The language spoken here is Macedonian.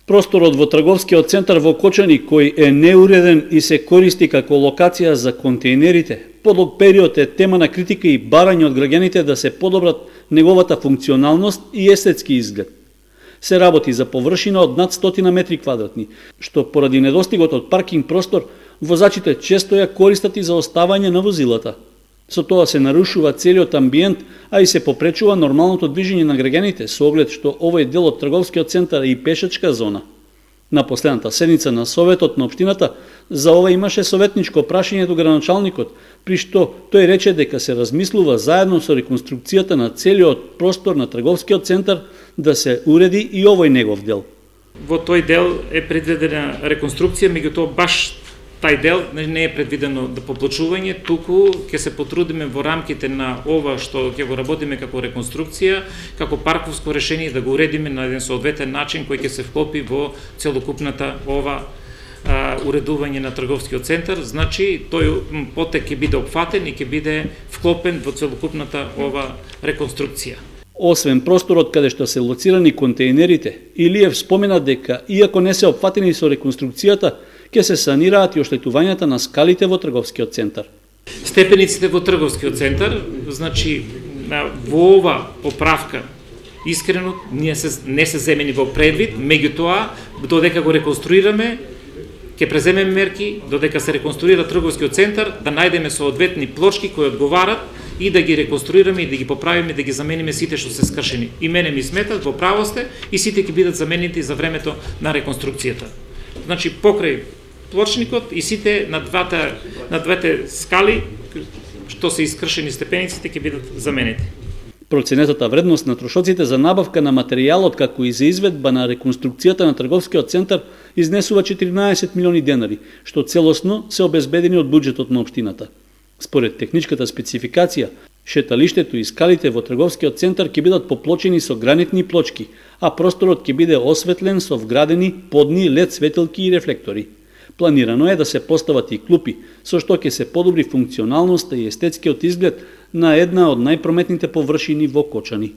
Просторот во трговскиот центар во Кочани, кој е неуреден и се користи како локација за контејнерите, подлог период е тема на критика и барање од граѓаните да се подобрат неговата функционалност и естетски изглед. Се работи за површина од над 100 метри квадратни, што поради недостигот од паркинг простор, возачите често ја користат и за оставање на возилата. Со тоа се нарушува целиот амбиент, а и се попречува нормалното движење на граѓаните со оглед што овој дел од трговскиот центар е и пешачка зона. На последната седница на Советот на општината за ова имаше советничко прашање до градоначалникот, при што тој рече дека се размислува заедно со реконструкцијата на целиот простор на трговскиот центар да се уреди и овој негов дел. Во тој дел е предвидена реконструкција, меѓутоа баш тај дел не е предвидено да поплачување, туку ќе се потрудиме во рамките на ова што ќе го работиме како реконструкција, како парковско решение да го уредиме на еден соодветен начин кој ќе се вклопи во целокупната ова уредување на трговскиот центар. Значи, тој потек ќе биде опфатен и ќе биде вклопен во целокупната ова реконструкција. Освен просторот каде што се лоцирани контејнерите, Илиев спомена дека, иако не се опфатени со реконструкцијата, ќе се санираат и оштетувањата на скалите во трговскиот центар. Степениците во трговскиот центар, значи, во ова поправка, искрено, не се земени во предвид, меѓутоа, додека го реконструираме, ќе преземеме мерки, додека се реконструира трговскиот центар, да најдеме соодветни плочки кои одговарат и да ги реконструираме и да ги поправиме, да ги замениме сите што се скршени. И мене ми сметат, во право сте, и сите ќе бидат заменети за времето на реконструкцијата. Значи, покрај плочникот и сите на двете скали што се искршени степениците ќе бидат заменети. Проценетата вредност на трошоците за набавка на материјалот како и за изведба на реконструкцијата на трговскиот центар изнесува 14 милиони денари, што целосно се обезбедени од буџетот на општината. Според техничката спецификација, шеталиштето и скалите во трговскиот центар ќе бидат поплочени со гранитни плочки, а просторот ќе биде осветлен со вградени подни лед светилки и рефлектори. Планирано е да се постават и клупи, со што ќе се подобри функционалноста и естетскиот изглед на една од најпрометните површини во Кочани.